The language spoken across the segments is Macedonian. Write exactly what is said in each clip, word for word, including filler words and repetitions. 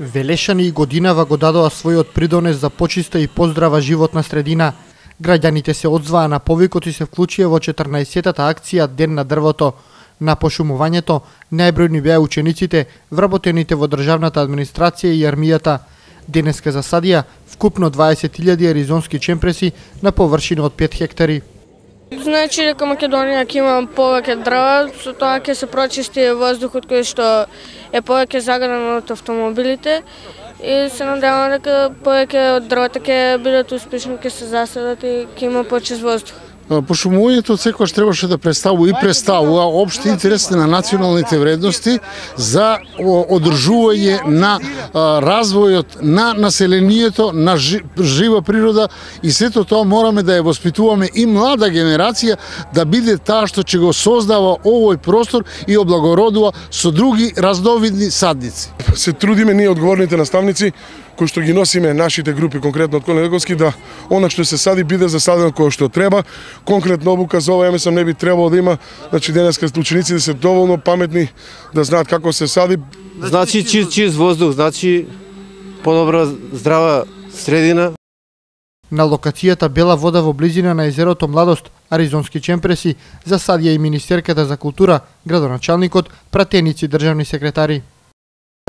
Велешани и годинава го дадоа својот придонес за почиста и поздрава животна средина. Граѓаните се одзваа на повикот и се вклучија во четрнаесеттата акција Ден на дрвото. На пошумувањето најбројни беа учениците, вработените во државната администрација и армијата. Денеска засадија вкупно дваесет илјади аризонски чемпреси на површина од пет хектари. Значи дека Македонија ќе има повеќе дрва, со тоа ќе се прочисти воздухот кој што е повеќе загаден од автомобилите и се надевам дека повеќе од дрвата ќе бидат успешни, ќе се засадат и ќе има почист воздух. Пошумувањето секогаш требаше да представува и представува општи интереси на националните вредности за одржување на развојот на населението, на жива природа и сето тоа мораме да ја воспитуваме и млада генерација да биде таа што ќе го создава овој простор и облагородува со други разновидни садници. Се трудиме ние одговорните наставници кои што ги носиме нашите групи, конкретно од Колен Еговски, да она што се сади биде засадено кој што треба. Конкретно обука за ова, ја мислам, не би требало да има. Значи денеска учениците се доволно паметни да знаат како се сади. Значи чист, чист воздух, значи подобра здрава средина. На локацијата Бела вода во близина на езерото Младост, аризонски чемпреси, засадија и Министерката за култура, градоначалникот, пратеници, државни секретари.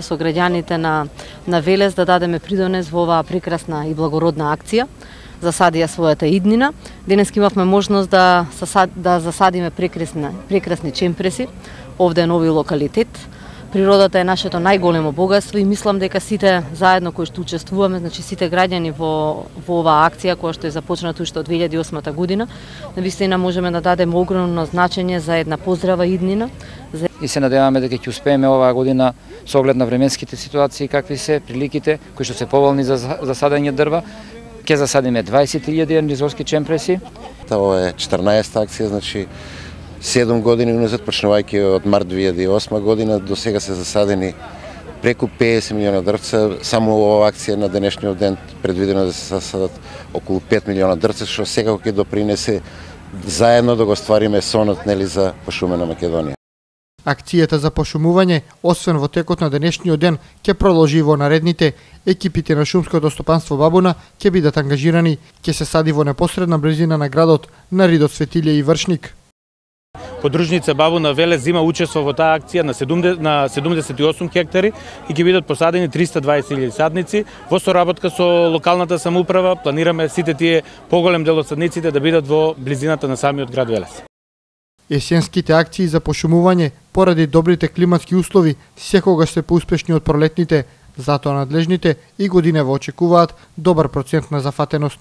Со граѓаните на, на Велес да дадеме придонес во оваа прекрасна и благородна акција. Засадија својата иднина. Денес имавме можност да, да засадиме прекрасни, прекрасни чемпреси. Овде е нови локалитет. Природата е нашето најголемо богатство и мислам дека сите заедно кои што учествуваме, значи сите граѓани во, во оваа акција која што е започната уште од две илјади и осма година, навистина можеме да дадеме огромно значење за една поздрава иднина. И се надеваме дека ќе успееме оваа година со оглед на временските ситуации какви се, приликите кои што се поволни за засадање дрва. Ќе засадиме дваесет илјади аризонски чемпреси. Ова е четрнаесетта акција, значи седум години уназад, почнувајќи од март две илјади и осма година, до сега се засадени преку педесет милиона дрвца. Само оваа акција на денешниот ден предвидено да се засадат околу пет милиона дрвца, што секако ќе допринесе заедно да го ствариме сонот, нели, за пошумена Македонија. Акцијата за пошумување, освен во текот на денешниот ден, ќе продолжи во наредните. Екипите на шумското стопанство Бабуна ќе бидат ангажирани, ќе се сади во непосредна близина на градот, на Ридот Светилје и Вршник. Подружница Бабуна Велес зима учество во таа акција на седумдесет и осум хектари и ќе бидат посадени триста дваесет илјади садници. Во соработка со локалната самоуправа планираме сите тие поголем дел од садниците да бидат во близината на самиот град Велес. Есенските акции за пошумување, поради добрите климатски услови, секогаш се поуспешни од пролетните, затоа надлежните и годинево очекуваат добар процент на зафатеност.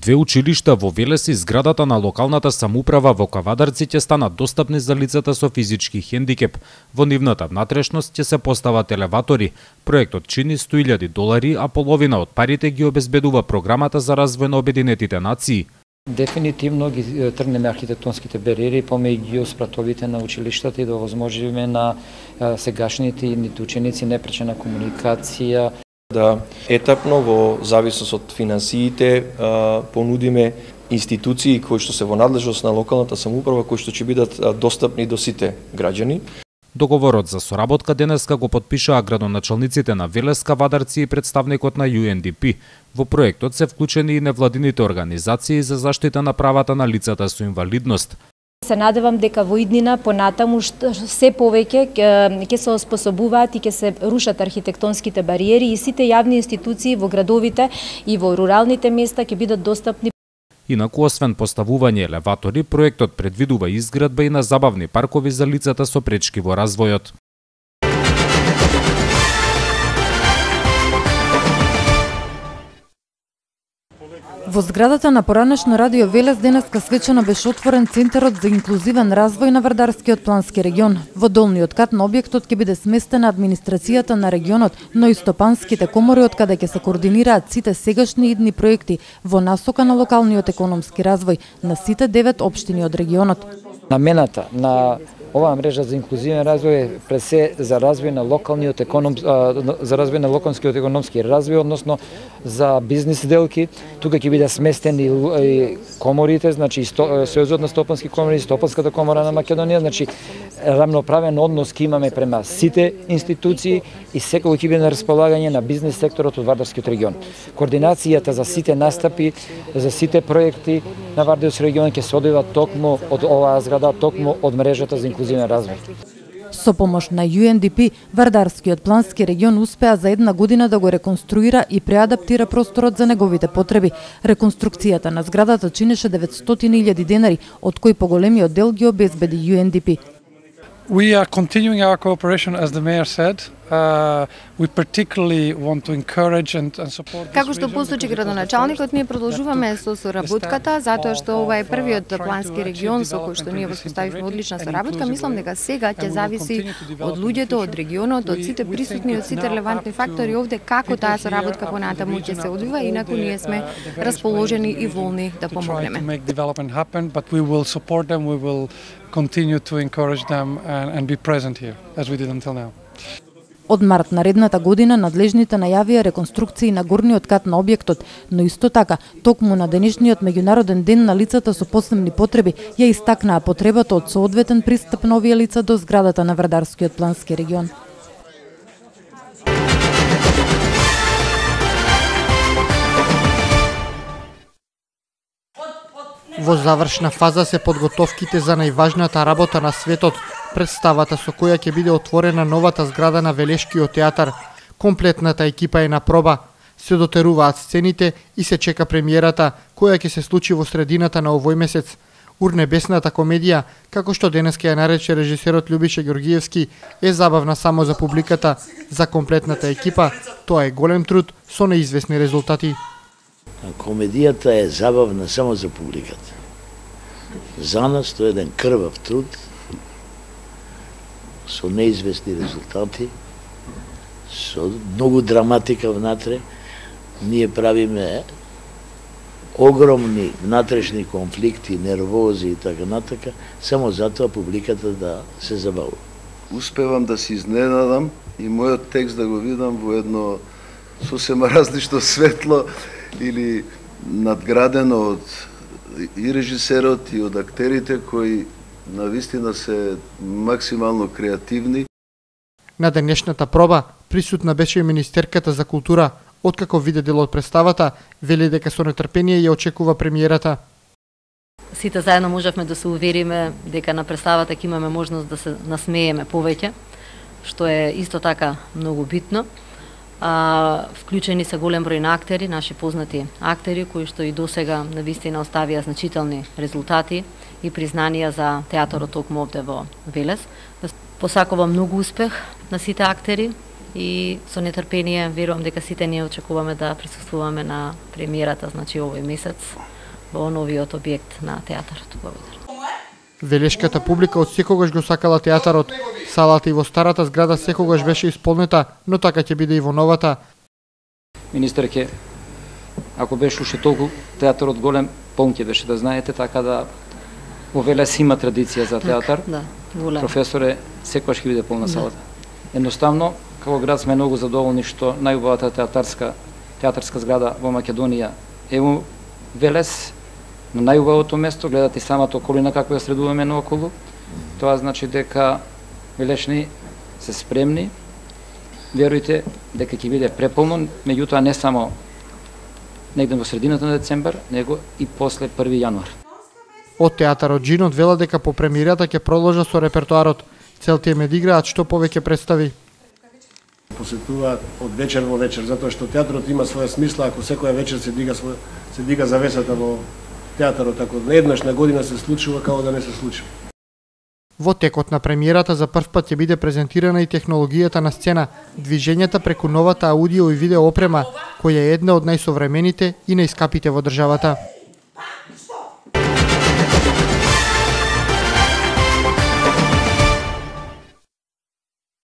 Две училишта во Велес и зградата на локалната самоуправа во Кавадарци ќе станат достапни за лицата со физички хендикеп. Во нивната внатрешност ќе се постават елеватори. Проектот чини сто илјади долари, а половина од парите ги обезбедува програмата за развој на Обединетите нации. Дефинитивно ги тргнеме архитектонските бариери помеѓу спратовите на училиштата и да овозможиме на сегашните и ученици непречена комуникација. Да етапно во зависност од финансиите понудиме институции кои што се во надлежност на локалната самоуправа кои што ќе бидат достапни до сите граѓани. Договорот за соработка денеска го потпишаа градоначалниците на Велес, Кавадарци и представникот на Ю Ен Ди Пи. Во проектот се вклучени и невладините организации за заштита на правата на лицата со инвалидност. Се надевам дека во иднина понатаму се повеќе ќе се оспособуваат и ќе се рушат архитектонските бариери и сите јавни институции во градовите и во руралните места ќе бидат достапни. Инаку, освен поставување елеватори, проектот предвидува изградба и на забавни паркови за лицата со пречки во развојот. Во зградата на поранешно радио Велес денеска свечено беше отворен Центарот за инклузивен развој на Вардарскиот плански регион. Во долниот кат на објектот ќе биде сместена администрацијата на регионот, но и стопанските комори од каде ќе се координираат сите сегашни идни проекти во насока на локалниот економски развој на сите девет општини од регионот. Намената на Оваа мрежа за инклузивен развој е пред се за развој на локалниот економ за развој на локалниот економски развој, односно за бизнис сделки. Тука ќе биде сместени и коморите, значи Сојузот на стопански комори, Стопанската комора на Македонија, значи рамноправен однос ќе имаме према сите институции и секој ќе биде на располагање на бизнис секторот од Вардарскиот регион. Координацијата за сите настапи, за сите проекти на Вардарскиот регион ќе се одвива токму од оваа зграда, токму од мрежата за инклузивен развој. Со помош на Ю Ен Ди Пи, Вардарскиот плански регион успеа за една година да го реконструира и преадаптира просторот за неговите потреби. Реконструкцијата на зградата чинеше деветстотини илјади денари, од кои поголемиот дел ги обезбеди Ю Ен Ди Пи. We are continuing our cooperation, as the mayor said. Uh, we particularly want to encourage and, and support. Како што посочи градоначалникот, ние продолжуваме со соработката, затоа што ова е првиот плански регион со кој што ние воспоставивме одлична соработка. Мислам дека сега ќе зависи од луѓето, од регионот, од сите присутни, од сите релевантни фактори овде како таа соработка понатаму ќе се одвива, инаку ние сме расположени и волни да помогнеме. Continue to encourage them and, and be present here, as we did until now. Од март наредната година надлежните најавија реконструкции на горниот кат на објектот, но исто така, токму на денешниот меѓународен ден на лицата со посебни потреби, ја истакнаа потребата од соодветен пристап на овие лица до зградата на Вардарскиот плански регион. Во завршна фаза се подготовките за најважната работа на светот, представата со која ќе биде отворена новата зграда на Велешкиот театар. Комплетната екипа е на проба. Се дотеруваат сцените и се чека премиерата, која ќе се случи во средината на овој месец. Урнебесната комедија, како што денеска ја нарече режисерот Љубиша Ѓоргиевски, е забавна само за публиката. За комплетната екипа, тоа е голем труд со неизвестни резултати. Комедијата е забавна само за публиката. За нас тоа е еден крвав труд со неизвестни резултати, со многу драматика внатре. Ние правиме огромни внатрешни конфликти, нервози и така натака, само затоа публиката да се забавува. Успевам да се изненадам и мојот текст да го видам во едно сосема различно светло или надградено од и режисерот и од актерите кои навистина се максимално креативни. На денешната проба присутна беше и министерката за култура. Откако виде дел од представата, вели дека со нетрпение ја очекува премиерата. Сите заедно можевме да се увериме дека на представата ќе имаме можност да се насмееме повеќе, што е исто така многу битно. А, вклучени се голем број на актери, наши познати актери, кои што и досега навистина оставија значителни резултати и признанија за театарот токму овде во Велес. Посакувам многу успех на сите актери и со нетрпение верувам дека сите ние очекуваме да присуствуваме на премиерата, значи овој месец, во новиот објект на театарот. Благодарам. Велешката публика од секогаш го сакала театарот. Салата и во старата зграда секогаш беше исполнета, но така ќе биде и во новата. Министерке, ако беше уште толку театарот голем, полн ќе беше, да знаете, така да во Велес има традиција за театар. Да, голем. Професоре, секогаш ќе биде полна салата. Едноставно, како град сме многу задоволни што најубавата театарска театарска зграда во Македонија е во Велес, на најубавото место, гледате самата околина како ја средуваме наоколу. Тоа значи дека велешни се спремни. Верујте дека ќе биде преполно, меѓутоа не само негде во средината на децембар, него и после први јануар. Од театарот Джинот вела дека по премиерата ќе продолжа со репертоарот. Целта им е да играат што повеќе представи. Посетуваат од вечер во вечер, затоа што театарот има своја смисла, ако секоја вечер се дига своја, се дига завесата во театарот, ако еднаш на година се случува, како да не се случува. Во текот на премиерата за прв пат ќе биде презентирана и технологијата на сцена, движењата преку новата аудио и видео опрема, која е една од најсовремените и најскапите во државата.